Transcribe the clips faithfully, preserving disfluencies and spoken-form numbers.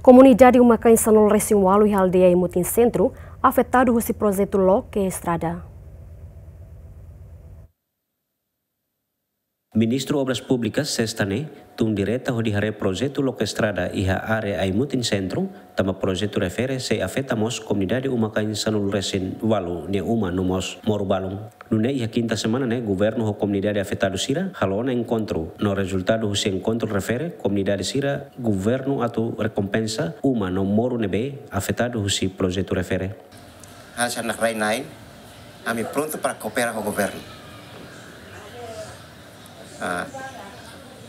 Komunidade uma-kain sanulu-resin-ualu iha aldeia Aimutin Sentru afetadu husi projetu loke estrada. Ministru Obras Públikas, Sesta ne'e, tun direta hodi haree projetu loke estrada iha área Aimutin Sentru, tanba projetu refere sei afeta mós komunidade uma-kain sanulu-resin-ualu nia uma no mós moru balun. Nune'e iha kinta semana ne'e, governu ho komunidade afetadu sira halo ona enkontru. No rezultadu husi enkontru refere, komunidade sira governu atu rekompensa uma no moru ne'ebé afetadu husi projetu refere. Hanesan nakrai-na'in, ami prontu para koopera ho governu. Ah,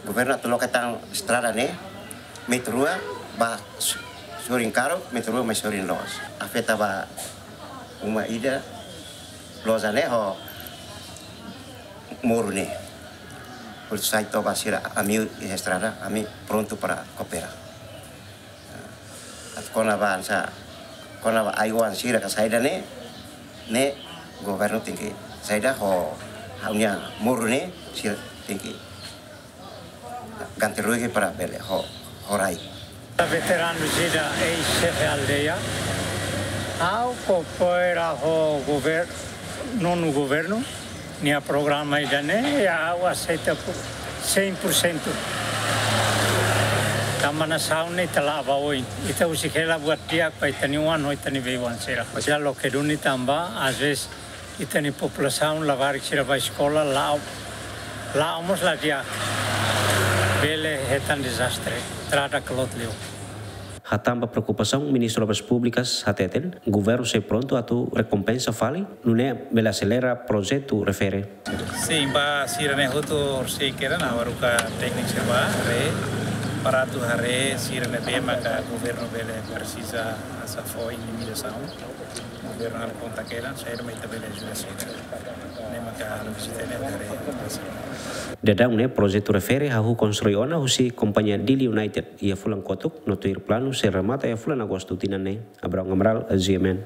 governu atu loke tan estrada ne'e, metru rua ba su-, sorin karuk, metru rua mai sorin loos. Afeta ba uma ida, loja ne'e ho moru ne'e. Por sai toba sira ami iha estrada, ami prontu para koopera. Atu kona-ba hanesan, kona-ba ai-oan sira ka saida ne'e, ne'e governu tenke saida ho ha'u-nia moru ne'e sira tenke ganti rugi para bele ho, ho rai. Veteranu sira eis-xefe aldeia. Ha'u koopera ho gover-, nonu governu nia programa ida-ne'e, ya, ha'u aseita por cem por cento. Tanba nasaun ne'e ita la'o ba oin. Ita husik hela buat di'ak ba ita-nia oan ho ita-nia bei-oan sira. Sira loke duni tanba, às vezes, ita-nia populasaun labarik sira bá eskola, la'o, la'o mós la di'ak. Bele hetan dezastre. Estrada kloot liu. Hatán ba preokupasaun, Ministru Obras Públikas hateten, governu sei prontu atu rekompensa fali, nune'e bele aselera projetu refere. Sin, ba sira ne'e hotu sei kera na waruka tékniku sira bá haree, para atu haree sira ne'ebé maka governu bele presiza hanesan fó indemnizasaun. Governu halo kontak kedan, saida mak ita bele ajuda sira. Ne'e maka halo vizita ne'e haree. Daudaun ne'e projetu refere hahú konstrui ona husi kompañia Dili United iha fulan kotuk, no tuir planu sei remata iha fulan Agostu tinan ne'e. Abraham Amaral, G M N.